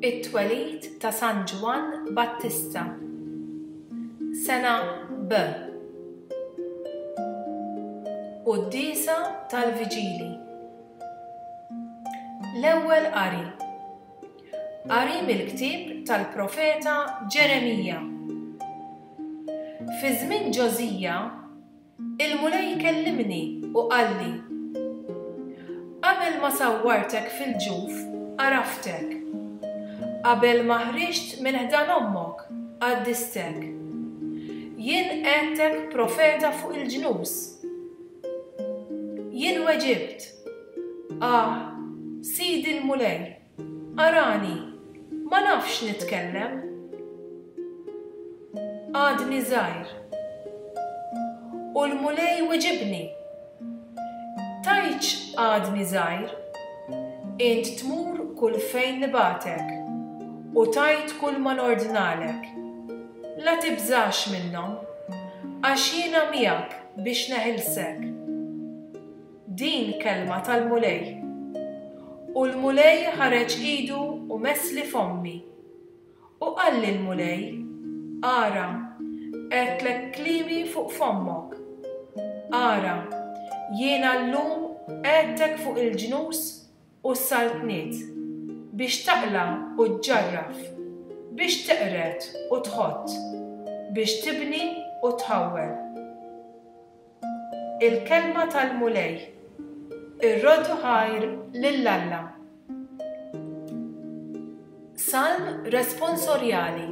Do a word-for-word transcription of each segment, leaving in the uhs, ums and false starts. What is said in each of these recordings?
It-twelid ta' San Ġwann Battista. Sena B. Quddiesa tal-Viġili. L-ewwel qari. Qari mill-ktieb tal-profeta Ġeremija. Fi żmien Ġożija, il-Mulej kellimni u qalli: Qabel ma sawwartek fil-ġuf, għaraftek. Qabel ma ħriġt minn ħdan ommok, qaddistek. Jien qegħdtek profeta fuq il-ġnus. Jien weġibt: Ah, Sidi l-Mulej, arani, ma nafx nitkellem. Għadni żgħir. U l-Mulej weġibni: Tgħidx għadni żgħir, int tmur kull fejn nibagħtek u tgħid kull ma nordnalek. La tibżax minnhom, għax jiena miegħek biex neħilsek. Din kelma tal-Mulej. U l-Mulej ħareġ idu u messli fommi. U qalli l-Mulej: Ara, qegħedtlek kliemi fuq fommok. Ara, jiena llum qegħedtek fuq il-ġnus u s-saltniet, biex taqla' u ġġarraf, biex teqred u tħott, biex tibni u tħawwel. Il-kelma tal-Mulej. Irroddu ħajr lil Alla. Salm responsorjali.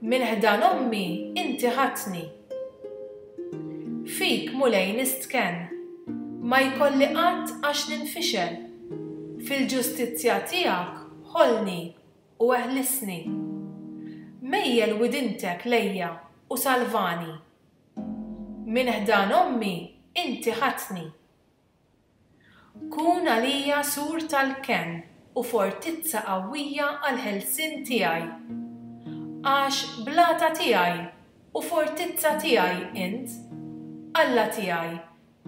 Minn ħdan ommi inti ħadtni. Fik, Mulej, nistkenn, ma jkolli qatt għax ninfixel. Fil-ġustizzja tiegħek ħollni u eħlisni. Mejjel widintek lejja u salvani. Minn ħdan ommi inti ħadtni. Kun għalija sur tal-kenn u fortizza qawwija għall-ħelsien tiegħi. Għax blata tiegħi u fortizza tiegħi int, Alla tiegħi,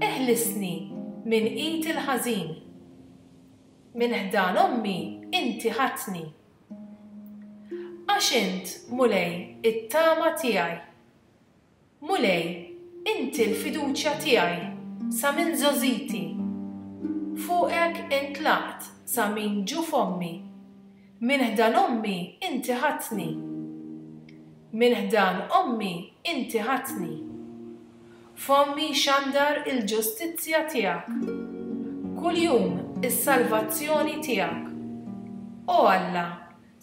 eħlisni minn id il-ħażin. Minn ħdan ommi inti ħadtni. Għax int, Mulej, it-tama tiegħi. Mulej, inti l-fiduċja tiegħi sa minn żgħożiti. Fuqek intlaqt sa minn ġuf ommi. Minn ħdan ommi inti ħadtni. Minn ħdan ommi inti ħadtni. Fommi xandar il-ġustizzja tiegħek. Kuljum is-salvazzjoni tiegħek. O Alla,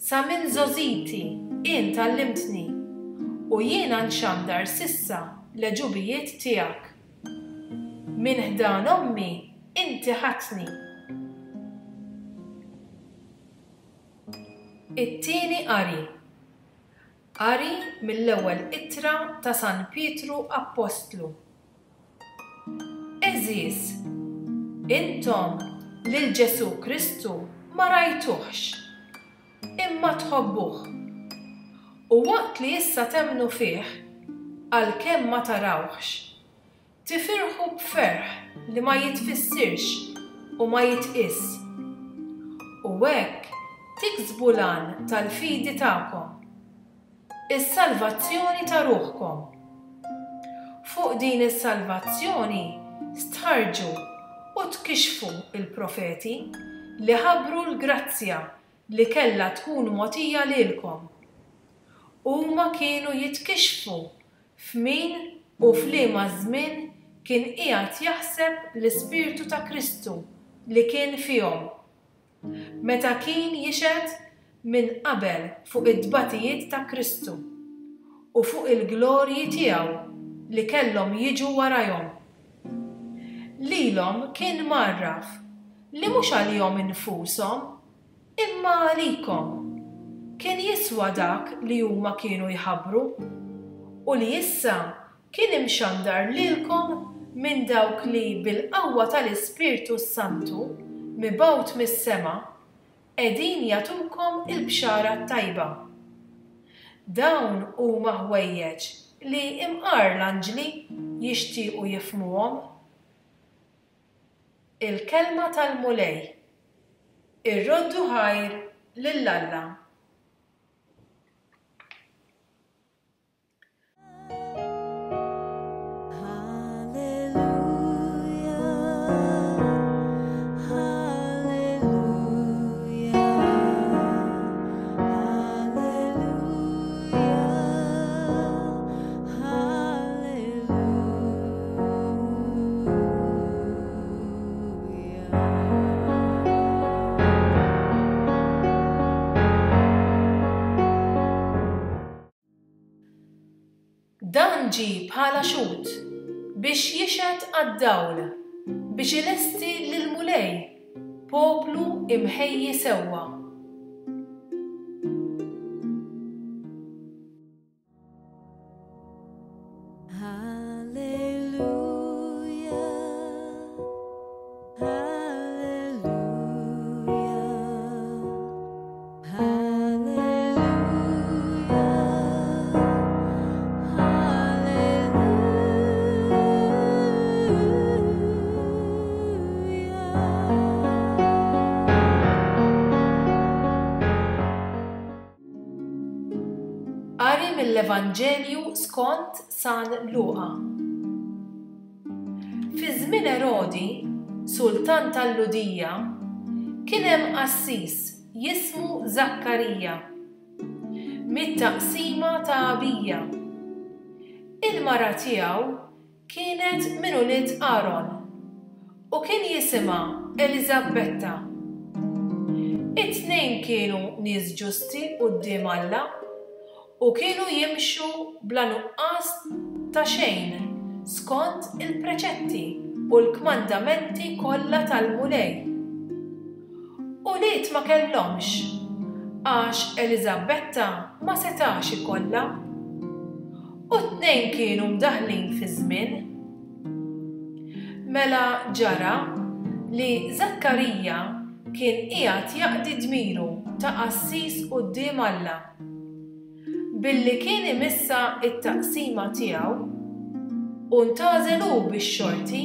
sa minn żgħożiti int għallimtni, u jiena nxandar s'issa l-għeġubijiet tiegħek. Minn ħdan ommi inti ħadtni. It-tieni qari. Qari mill-ewwel ittra ta' San Pietru Appostlu. Għeżież, intom lil Ġesù Kristu ma rajtuhx, imma tħobbuh. U waqt li issa temmnu fih, għalkemm ma tarawhx, tifirħu b'ferħ li ma jitfissirx u ma jitqies. U hekk tiksbu l-għan tal-fidi tagħkom, is-salvazzjoni ta' ruħkom. Fuq din is-salvazzjoni stħarrġu u tkixxfu l-profeti li ħabbru l-grazzja li kellha tkun mogħtija lilkom. Huma kienu jitkixxfu f'min u f'liema żmien kien qiegħed jaħseb l-Ispirtu ta' Kristu li kien fihom, meta kien jixhed minn qabel fuq it-tbatijiet ta' Kristu u fuq il-glorji tiegħu li kellhom jiġu warajhom. Lilhom kien mgħarraf li mhux għalihom infushom, imma għalikom kien jiswa dak li huma kienu jħabbru u li issa kien imxandar lilkom minn dawk li bil-qawwa tal-Ispirtu s-Santu mibgħut mis-sema qegħdin jagħtukom il-bxara t-tajba. Dawn huma ħwejjeġ li imqar l-anġli jixtiequ jifhmuhom. Il-kelma tal-Mulej. Irroddu ħajr lil Alla. Dan ġie bħala xhud biex jixhed għad-dawl, biex ilesti lill-Mulej, poplu imħejji sewwa. Qari mill-Evanġelju skont San Luqa. Fi żmien Erodi, sultan tal-Lhudija, kien hemm qassis jismu Żakkarija, mit-taqsima ta' Abija. Il-mara tiegħu kienet minn ulied Aron u kien jisimha Eliżabetta. It-tnejn kienu nies ġusti quddiem Alla u kienu jimxu bla nuqqas ta' xejn skont il-preċetti u l-kmandamenti kollha tal-Mulej. Ulied ma kellhomx, għax Eliżabetta ma setax ikollha. U t-tnejn kienu mdaħlin fi żmien. Mela ġara li Żakkarija kien qiegħed jaqdi dmiru ta' qassis quddiem Alla. Billi kien imissa t-taqsima tiegħu u ntgħażel hu bix-xorti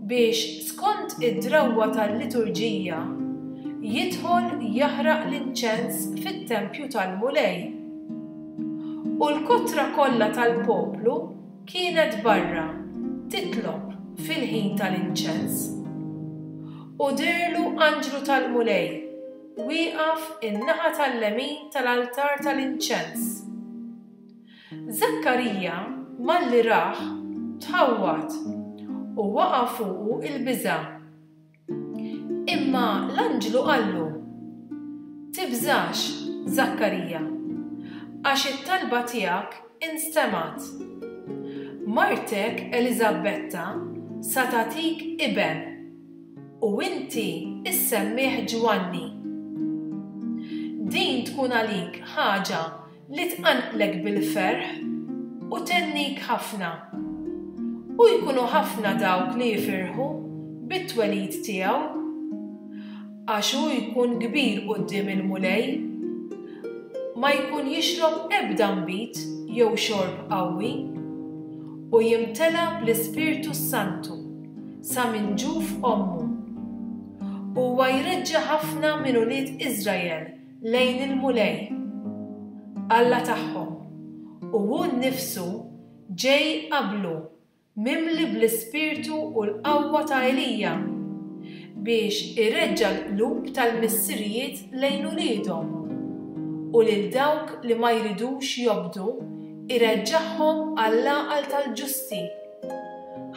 biex skont id-drawwa tal-liturġija jidħol jaħraq l-inċens fit-tempju tal-Mulej. U l-kotra kollha tal-poplu kienet barra titlob fil-ħin tal-inċens. U deherlu anġlu tal-Mulej wieqaf in-naħa tal-lemin tal-altar tal-inċens. Żakkarija malli rah tħawwad u waqa' fuqu il-biża'. Imma l-anġlu qallu: Tibżax, Żakkarija, għax it-talba tiegħek instemgħet. Martek Eliżabetta sa tagħtik iben u inti issemmih Ġwanni. Din tkun għalik ħaġa li tqanqlek bil-ferħ u tennik ħafna. U jkunu ħafna dawk li jifirħu bit-twelid tiegħu, għax hu jkun kbir quddiem il-Mulej, ma jkun jixrob ebda nbid jew xorb qawwi, u jimtela bl-Ispirtu s-Santu sa minn ġuf ommu. Huwa jreġġa' ħafna minn ulied Iżrael lejn il-Mulej, Alla tagħhom, u hu nnifsu ġej qablu mimli bl-Ispirtu u l-qawwa ta' Elija biex ireġġa' l-qlub tal-missirijiet lejn uliedhom u lil dawk li ma jridux jobdu ireġġagħhom għall-għaqal tal-ġusti,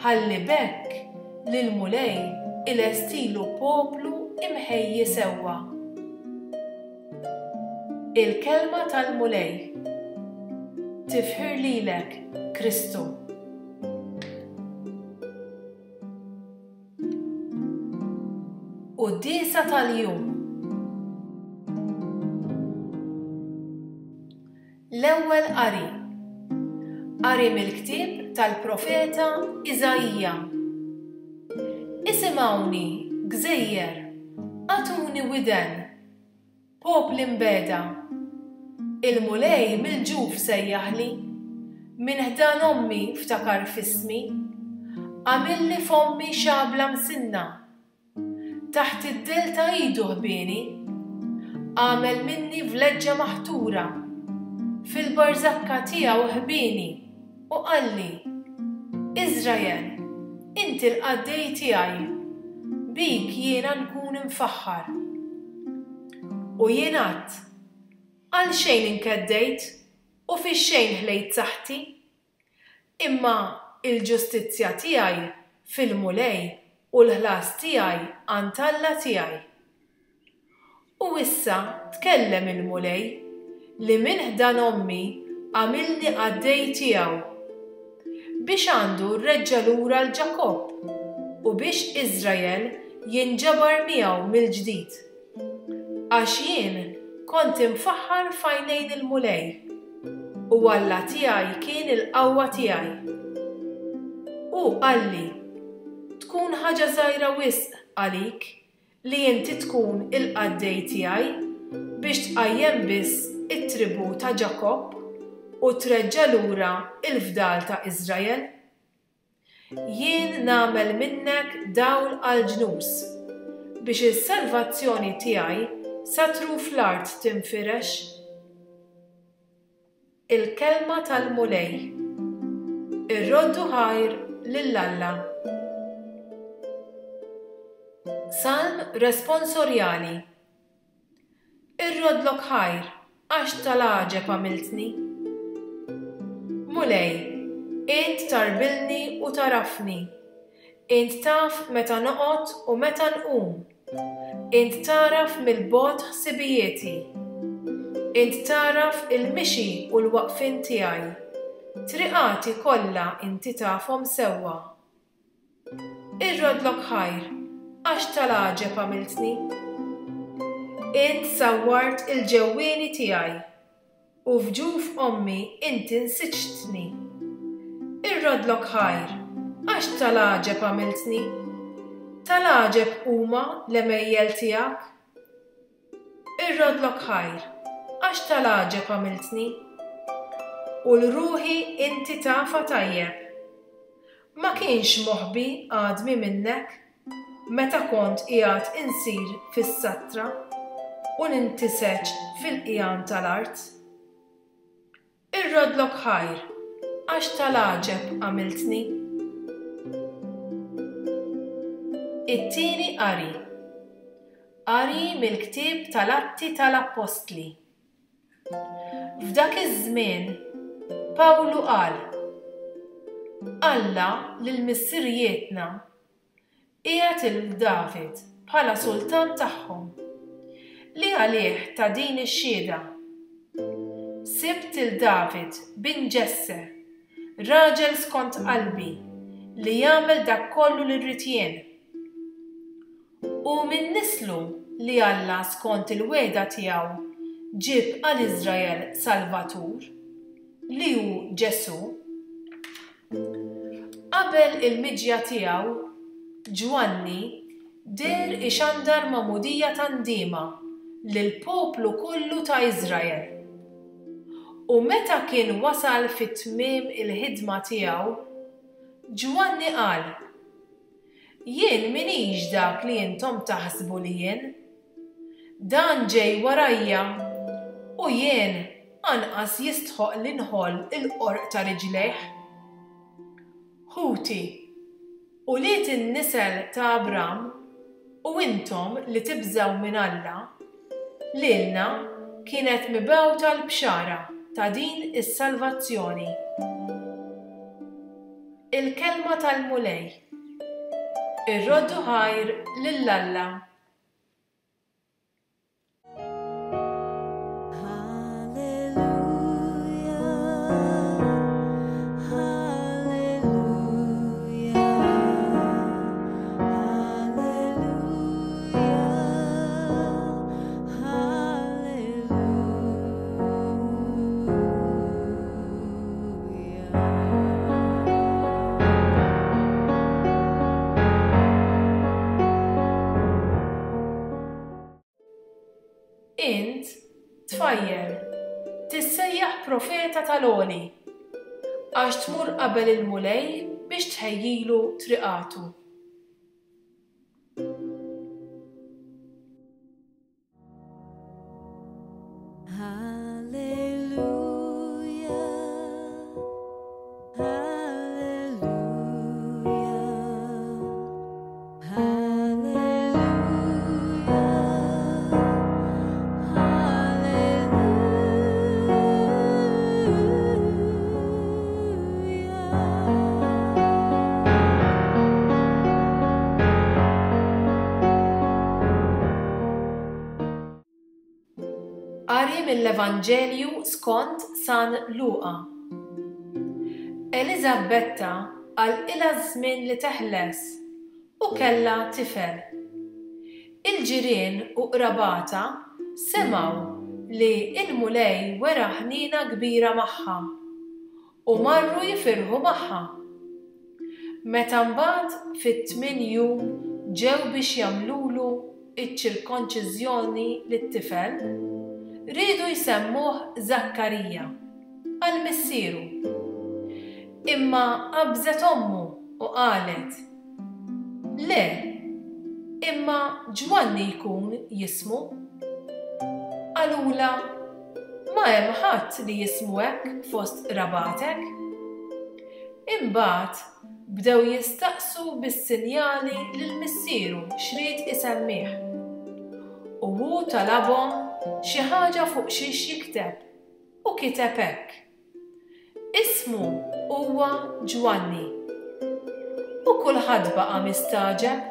ħalli b'hekk lill-Mulej ilestilu poplu imħejji sewwa. Il-kelma tal-Mulej. Tifħir lilek, Kristu. Quddiesa tal-jum. L-ewwel qari. Qari mill-ktieb tal-profeta Iżaija. Isimgħuni, gżejjer, agħtuni widen, popli mbeda. Il-Mulej mill-ġuf sejjaħli, minn ħdan ommi ftakar f'ismi, għamilli f'ommi xabla msinna. Taħt id-del ta' idu ħbieni, Għamel minni vleġġa maħtura, fil-barżakka tiegħu ħbieni, u qalli, Iżrael, inti l-qaddej tiegħi, bik jiena nkun imfaħħar. U jien għedt, għalxejn inkeddejt u fix-xejn ħlejt saħħti. Imma il-ġustizzja tiegħi fil-Mulej u l-ħlas tiegħi għand Alla tiegħi. U issa tkellem il-Mulej li minn ħdan ommi għamilni qaddej tiegħu, biex għandu rreġġa' lura 'l Ġakobb u biex Iżrael jinġabar miegħu mill-ġdid. Għax jien kont imfaħħar f'għajnejn il-Mulej, u Alla tiegħi kien il-qawwa tiegħi. Hu qalli, tkun ħaġa żgħira wisq għalik li inti tkun il-qaddej tiegħi biex tqajjem biss it-tribù ta' Ġakobb u treġġa' lura l-fdal ta' Iżrael. Jien nagħmel minnek dawl għall-ġnus, biex is-salvazzjoni tiegħi sa truf l-art tinfirex. Il-kelma tal-Mulej. Irroddu ħajr lil Alla. Salm responsorjali. Irroddlok ħajr għax tal-għaġeb għamiltni. Mulej, int tarbilni u tarafni. Int taf meta noqgħod u meta nqum. Int taraf mill-bogħod ħsibijieti. Int taraf il-mixi u l-waqfien tiegħi. Triqati kollha inti tafhom sewwa. Irrodlok ħajr għax tal-għaġeb għamiltni. Int sawwart il-ġewwieni tiegħi u f'ġuf ommi inti nsiġtni. Irrodlok ħajr għax tal-għaġeb għamiltni. Tal-għaġeb huma l-għemejjel tiegħek. Irrodlok ħajr għax tal-għaġeb għamiltni. U l-ruħi inti tafa tajjeb. Ma kienx moħbi għadmi minnek meta kont qiegħed insir fis-satra u nintiseġ fil-qigħan tal-art. Irrodlok ħajr għax tal-għaġeb għamiltni. It-tieni qari. Qari mill-ktieb tal-Atti tal-Appostli. F'dak iż-żmien Pawlu qal: Alla lil missirijietna qiegħed il David bħala sultan tagħhom, li għalih ta' din ix-xhieda. Sibt il David bin Ġesse, raġel skont qalbi, li jagħmel dak kollu li rrid jien. U minn nislu li Alla skont il-wegħda tiegħu ġib għal Iżrael Salvatur, li hu Ġesù. Qabel il-miġja tiegħu, Ġwanni deher ixandar magħmudija ta' ndiema lill-poplu kollu ta' Iżrael. U meta kien wasal fit-tmiem il-ħidma tiegħu, Ġwanni qal: Jien minix dak li intom taħsbu li jien. Dan ġej warajja u jien anqas jistħoq li nħoll il-qorq ta' riġlejh. Ħuti, ulied in-nisel ta' Abram, u intom li tibżgħu minn Alla, lilna kienet mibgħuta l-bxara ta' din is-salvazzjoni. Il-kelma tal-Mulej. Irroddu ħajr lil Alla. Int, tfajjel, tissejjaħ profeta tal-Għoli, għax tmur qabel il-Mulej biex tħejjilu triqatu. Qari mill-Evanġelju skont San Luqa. Eliżabetta għalqilha żmien li teħles u kellha tifel. Il-ġirien u qrabatha semgħu li il-Mulej wera ħnina kbira magħha u marru jifirħu magħha. Meta mbagħad fit-tmien jum ġew biex jagħmlulu iċ-ċirkonċiżjoni lit-tifel, riedu jsemmuh Zakkarija għal missieru. Imma qabżet ommu u qalet: "Le, imma Ġwanni jkun jismu." Qalulha: "Ma hemm ħadd li jismu hekk fost qrabatek." Imbagħad bdew jistaqsu bis-sinjali lil missieru x'ried isemmih. U hu talabhom xi ħaġa fuq xiex jikteb u kiteb hekk: "Ismu huwa Ġwanni." U kulħadd baqa' mistagħġeb.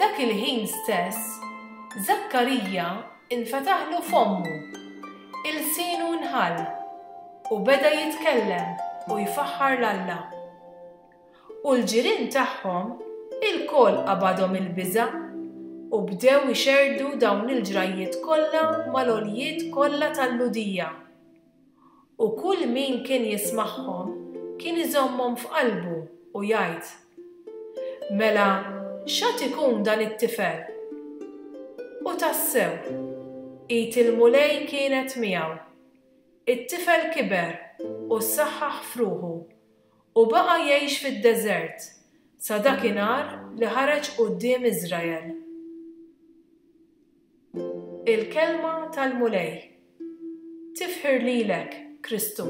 Dak il-ħin stess, Zakkarija infetaħlu fommu, ilsienu nħall u beda jitkellem u jfaħħar 'l Alla. U l-ġirien tagħhom ilkoll qabadhom il-biża' u bdew ixerdu dawn il-ġrajjiet kollha mal-għoljiet kollha tal-Lhudija. U kull min kien jismagħhom kien iżommhom f'qalbu u jgħid: "Mela x'għad ikun dan it-tifel?" U tassew, id il-Mulej kienet miegħu. It-tifel kiber u ssaħħaħ f'ruħu u baqa' jgħix fid-deżert sa dakinhar li ħareġ quddiem Iżrael. Il-kelma tal-Mulej. Tifħir lilek, Kristu.